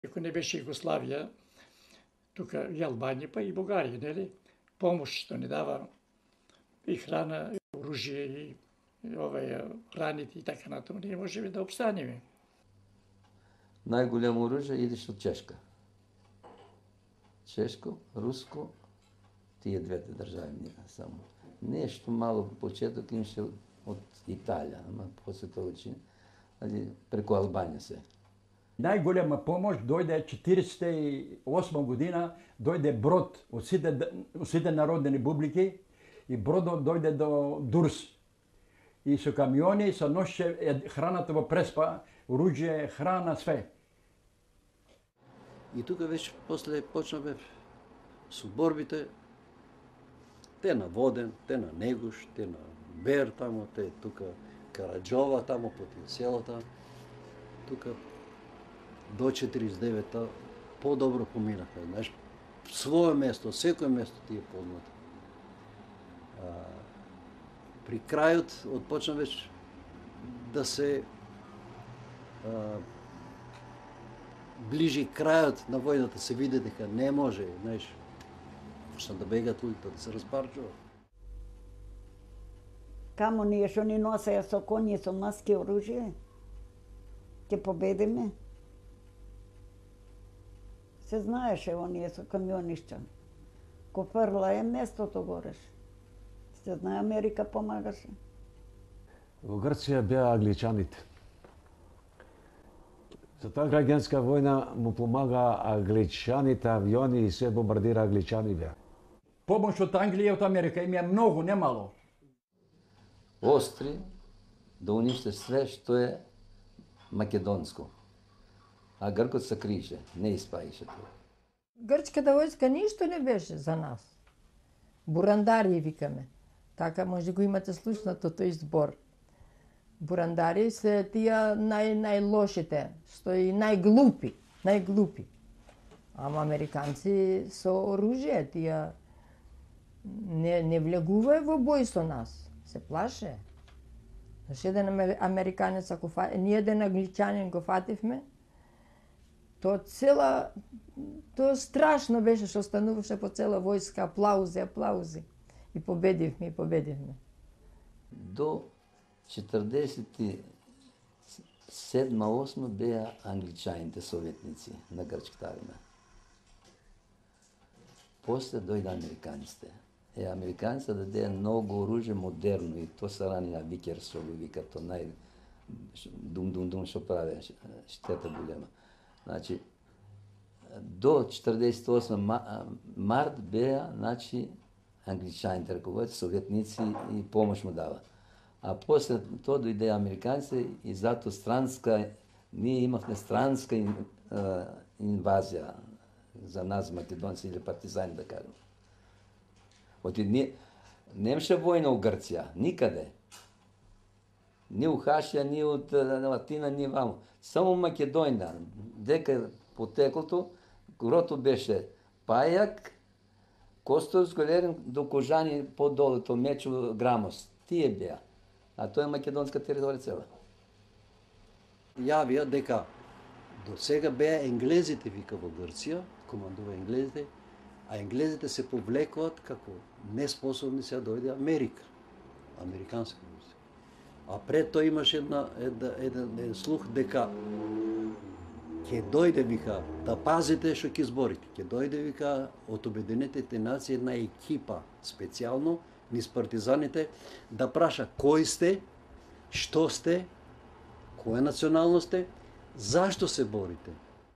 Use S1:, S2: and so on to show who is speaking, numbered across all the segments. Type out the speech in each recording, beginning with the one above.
S1: Ако не беше Југославија, тука и Албанија, па и Бугарија, нели? Помош што ни дава и храна, и оружје, и храните и така натаму, ние можеме да обстанеме.
S2: Најголемо оружје идеш од Чешка. Чешко, Руско, тие двете држави ние само. Нешто мало почеток имаше од Италија, ама после тоа преку Албанија се.
S3: Најголема помош дојде 48 година, дојде брод од сите народни републики и бродот дојде до Дурс. И со камиони се ноше храната во Преспа, оружје, храна, све.
S4: И тука веќе после почнавме со борбите, те на Воден, те на Негуш, те на Бер тамо, те тука Караџова тамо по тие селата. Тука до 49-та подобро поминахме, знаеш, свое место, секој место ти е познато. При крајот отпочна веќе да се ближи крајот на војната, се види дека не може, знаеш, почна да бегат луѓето, да се распарчува.
S5: Камо ние што ни носеја со коњи, со маски, оружје, ќе победиме. Се знаеше оние со камионишта. Ко фрла е местото гореш. Се знае, Америка помагаше.
S6: Во Грција беа англичаните. За таа граѓанска војна му помага англичаните, авиони и се бомбардира англичани беа.
S3: Помош од Англија и од Америка им е многу, не мало.
S2: Остри да униште све што е македонско. А Гркот се криеше, не испаише тоа.
S7: Грчката војска ништо не беше за нас. Бурандари викаме. Така може го имате слушнато тој збор. Бурандари се тие најлошите, што и најглупи. Ама американци со оружје, тие не влегувае во бој со нас, се плаше. Зашто еден американец, ние еден англичанин го фативме, тоа страшно беше што стануваше по цела војска, аплаузи. И победивме.
S2: До 47-8 беа англичаните советници на грчката армија. После дојде американците. Американците дадеа многу оружје модерно и тоа се рани на Викерсол, вика тоа дум што праве, штета голема. Значи, до 48 март беа, значи, англичаните раководите, советници и помош му дава. А после тоа дојде американците и зато ние имавме странска инвазија за нас, македонци или партизани, да кажем. Немаше војна у Грција, никаде. Ни у Хашија, ни од Латина, ни вамо. Само Македонија, дека потеклото, грото беше Пајак, Костовско, Лерин, до Кожани, подолето, Мечо, Грамос. Тие беа. А тоа е македонска територија цела.
S4: Јавија дека до сега беа енглезите, вика, во Грција, командува енглезите, а енглезите се повлекуваат како неспособни се да дојде Америка, американска войска. А пред тоа имаше еден слух дека ќе дојде, вика, да пазите што ќе зборите. Ќе дојде, вика, од Обединетите нации една екипа специјално низ партизаните да праша кои сте, што сте, која националност сте, зашто се борите.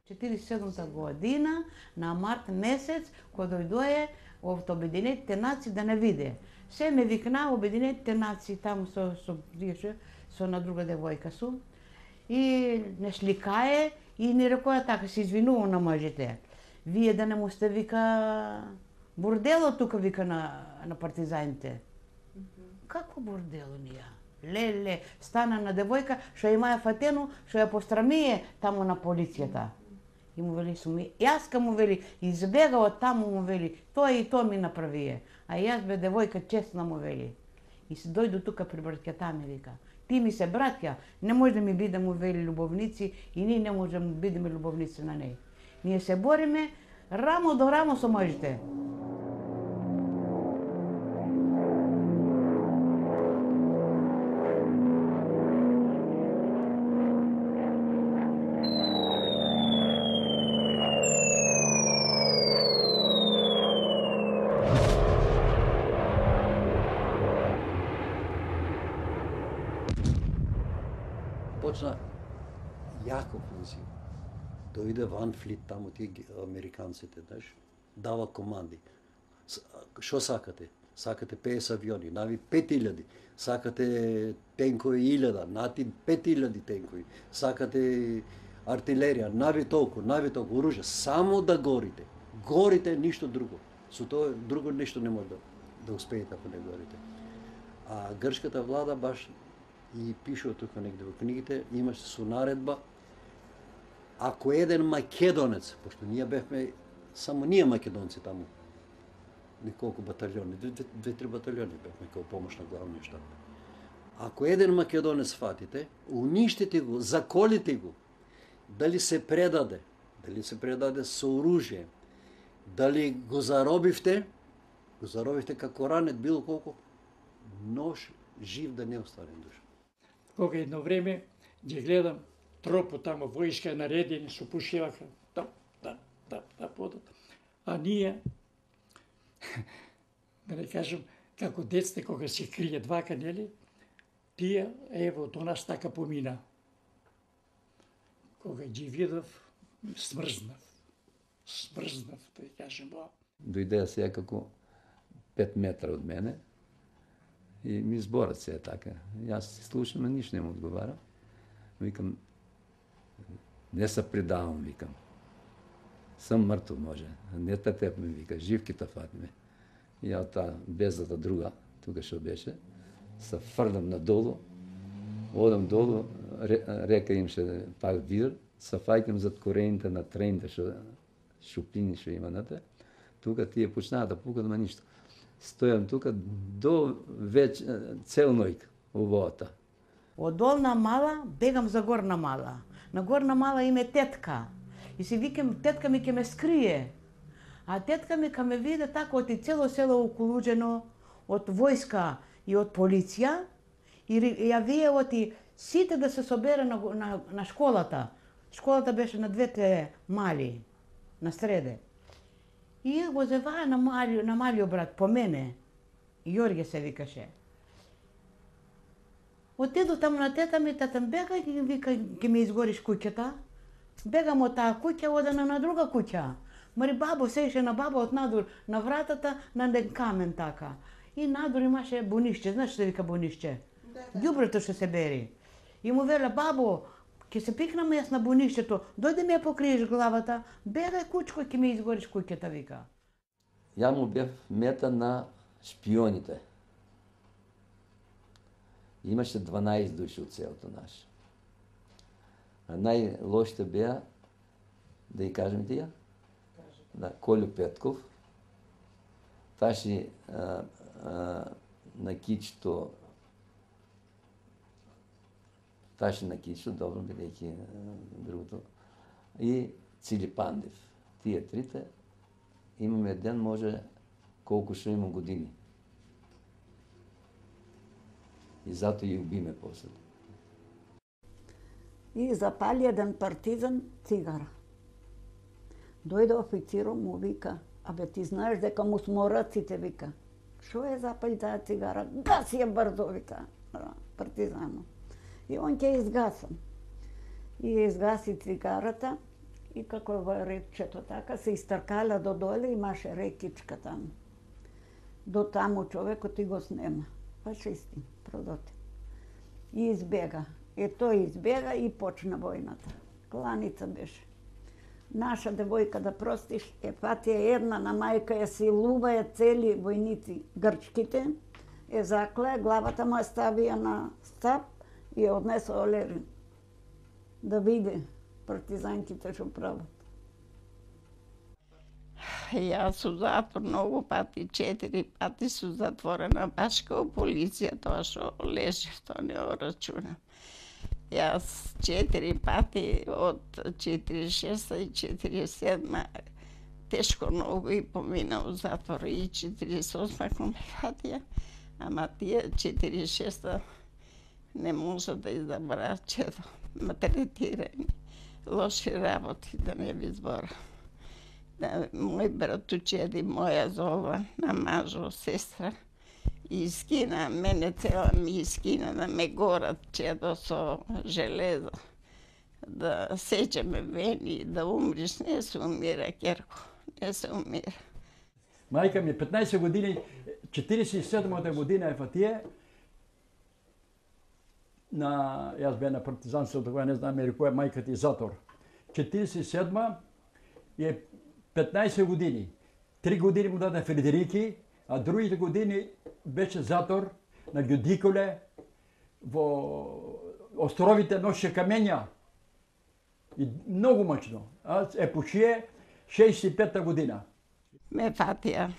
S8: 47-та година, на март месец, кога дојдоe од Обединетите нации да не виде. Се ме викна Обединетите нации таму со на друга девојка сум и не сликае и ни рекоја така, се извинувам на мажите. Вие да не му сте, вика, бордело тука, вика, на партизаните. Како бордело ние? Леле, стана на девојка, што имаја фатено, што ја пострамие таму на полицијата. И му вели, јаска му вели, избега од таму му вели, тоа и тоа ми направие. А јас бе девојка честна му вели. И се дојду тука при братката ми вика, ти ми се браќа, не може да ми бидеме вели љубовници и ние не може да бидеме љубовници на неј. Ние се бориме рамо до рамо со можите.
S4: Почна јако офензив. Дојде Ван Флит таму, тие американците, знаеш, дава команди. Што сакате? Сакате 50 авиони, нави 5000, сакате тенкови 1000, нати 5000 тенкови, сакате артилерија, нави толку, оружје, само да горите. Горите, ништо друго. Со тоа друго нешто не може да успеете ако не горите. А грчката влада баш и пишува тука негде во книгите, имаше со наредба, ако еден македонец, пошто ние бевме, само ние македонци таму, неколку батальони, 2-3 батальони бевме како помош на главниот штаб. Ако еден македонец фатите, уништите го, заколите го, дали се предаде со оружје, дали го заробивте како ранет, било колку, нож жив да не остане душа.
S1: Кога едно време ги гледам тропо тамо, војска наредени, со пушеваха, подат. А ние, да не кажем, како децте, кога се кријат вака, нели, тие, ево, до нас така помина. Кога ги видов, смрзнав, да кажем.
S2: Дојдеа се како 5 метра од мене и ми зборат се така. Јас се слушам, а ништо не му одговарам. Викам, не се предавам, викам. Сам мртов може. Не те теб ми вика, живки та фатиме. И ја таа безата друга, тука што беше, се фрлам надолу, одам долу, река имаше пак вир, се фаќам зад корените на трените што шупини што има нате. Тука тие почнаа да пукат, ма ништо. Стојам тука до цел ноќ во водата.
S8: Од долна мала бегам за горна мала. На горна мала име тетка. И си викам, тетка ми ќе ме скрие. А тетка ми ка ме виде така од и цело село околуđено од војска и од полиција. И ја вие оти сите да се собере на школата. Школата беше на 2 мали, на среде. И го зеваа на малиот брат, по мене. Јорге се викаше. Отиду таму на тета ми, бега и вика, ќе ми изгориш куќата. Бегам од таа куќа, одена на друга куќа. Мари бабо сееше на баба од надвор, на вратата, на ден камен така. И надвор имаше бунишче, знаеш што вика бунишче? Ѓубрето што се бери. И му веле, бабо, ќе се пикнам јас на бунишчето, дојде ми ја покриеш главата, бегај кучко, ќе ми изгориш куќата, вика.
S2: Ја му бев мета на шпионите. Имаше 12 души од селото наше. А најлошите беа, да ја кажем тие? Да, Колјо Петков, Таши на Кичто, добро бидејќи другото, и Цили Пандев. Тие трите, имаме ден, може колку што имам години. И затоа ја убиме после.
S5: И запали еден партизан цигара. Дојде официрот, му вика, абе ти знаеш дека му смораците, вика. Шо е запали таа цигара? Гаси ја брзо, вика, партизанот. И он ќе изгасам. И изгаси цигарата и како во речето така се истркала до доле, имаше рекичка таму. До таму човекот и го снема. Фашисти, продоти. И избега. И тој избега и почна војната. Кланица беше. Наша девојка, да простиш, фатија една на мајка ја силуваја цели војници грчките, заклеја, главата му ја ставија на стап и ја однесе Олерин да види партизанките што прават.
S9: Јас сум затвор многу пати, 4 пати сум затворена, баш као полиција, тоа што лежи, тоа не го рачунам. Јас 4 пати од 46 и 47 тешко многу и помина у затвор и 48 кога ме фатија, ама тие 46 не може да изабраа чедо, малтретирани, лоши работи, да не ви збора. Да, мој братучеди, моја зова, на мажо, сестра, и скина, мене цела ми скина да ме горат чедо со железо, да сечеме вени, да умриш, не се умира, керко, не се умира.
S3: Мајка ми 15 години, 47-та година е фатија, јас бе на партизанството, кога не знам која мајка ти затвор. 47-ма е 15 години. 3 години му даде Фредерики, а другите години беше затвор на Ѓудиколе, во островите Ноше камења. И многу мачно. А пушие 65-та година.
S9: Ме фатија,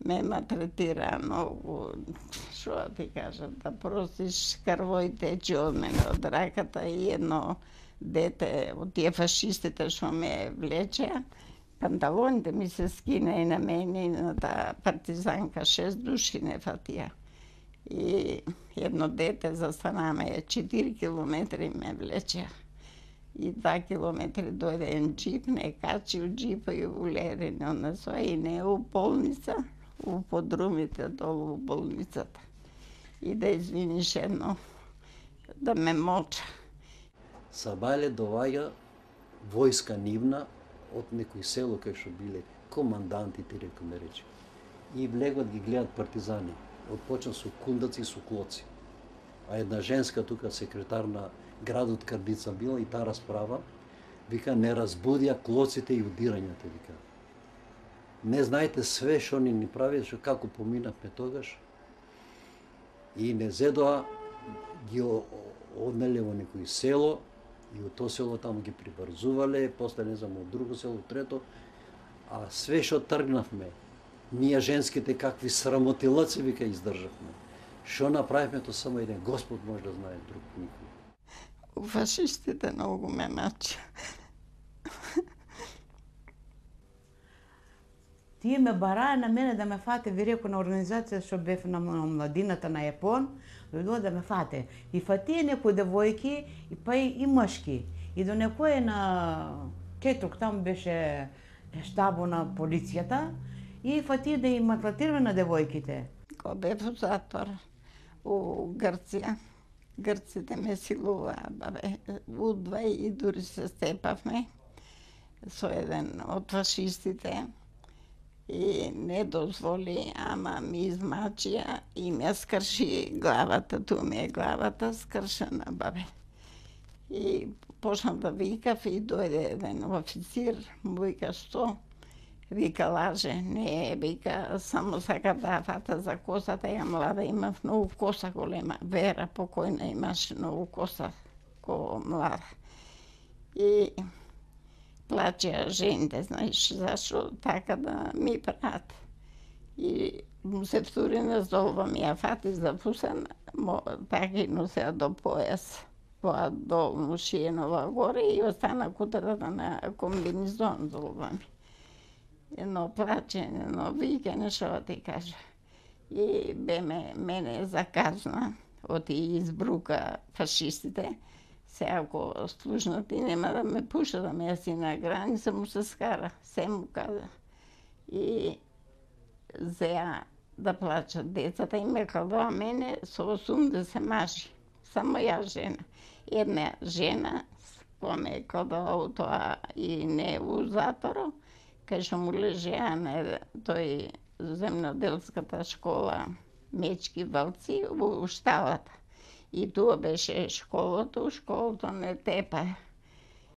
S9: ме малтретира многу, шо да ти кажам, да простиш, крвој тече од мене, од раката, и едно дете од тие фашистите што ме влечеа, панталоните ми се скина и на мене и на таа партизанка, 6 души не фатија. И едно дете застанаме 4 километри ме влечеа. И 2 километри дојде еден джип, не качи у джипа и улери на насоа и не у болница, у подрумите долу у болницата. И да извиниш едно, да ме моча.
S4: Сабајле доваѓа војска нивна од некој село кај што биле командантите, рекоме речи. И влегат ги гледат партизани. Отпочна со кундаци и со клоци. А една женска тука секретар на градот Кардица била и таа расправа, вика, не разбудија клоците и удирањата, вика. Не знаете све што ни прави, што како поминавме тогаш. И не зедоа, ги однеле во некој село, и од тоа село таму ги прибрзувале, после не знам од друго село, трето, а све што тргнавме, ние женските какви срамотилаци, вика, издржавме. Што направивме, тоа само еден Господ може да знае, друг никој.
S9: Фашистите многу ме мачи.
S8: Тие ме бараа на мене да ме фате, ви реко, на организација што бев на младината на Јапон, дојдоа да ме фате. И фатие некои девојки, и па и мъжки. И до некој на Кетрук, там беше штабо на полицијата, и фатие да им малтретираме на девојките.
S9: Кога бев во затвор у Грција, грците ме силуваа, бабе, удва и дури се степавме со еден од фашистите и не дозволи, ама ми измачија и ме скрши главата, ту ми е главата скршена, бабе. И почнав да викав и дојде еден официр, му вика, што? Вика, лаже, не, вика, само сака да фата за косата, ја млада, имав многу коса голема, Вера покојна имаше многу коса, ко млада. И плачеа жените, знаеш, зашо така да ми прават. И му се втури на золба, ми ја фати за фусен, така и носеа до појас, тоа долно шиенова горе и остана кутрата на комбинизон золба ми. Едно плачење, едно викање, што ти кажа. И бе мене заказна, оти избрука фашистите. Се ако служнати нема да ме пуша, да ме јаси на граница, му се скара, се му каза. И зеа да плачат децата и ме кладоа мене со 80 мажи. Само ја жена. Една жена, која ме кладоа тоа и не у затворо, кај што му лежеа на тој земноделската школа Мечки Валци во шталата. И тоа беше школото не тепа.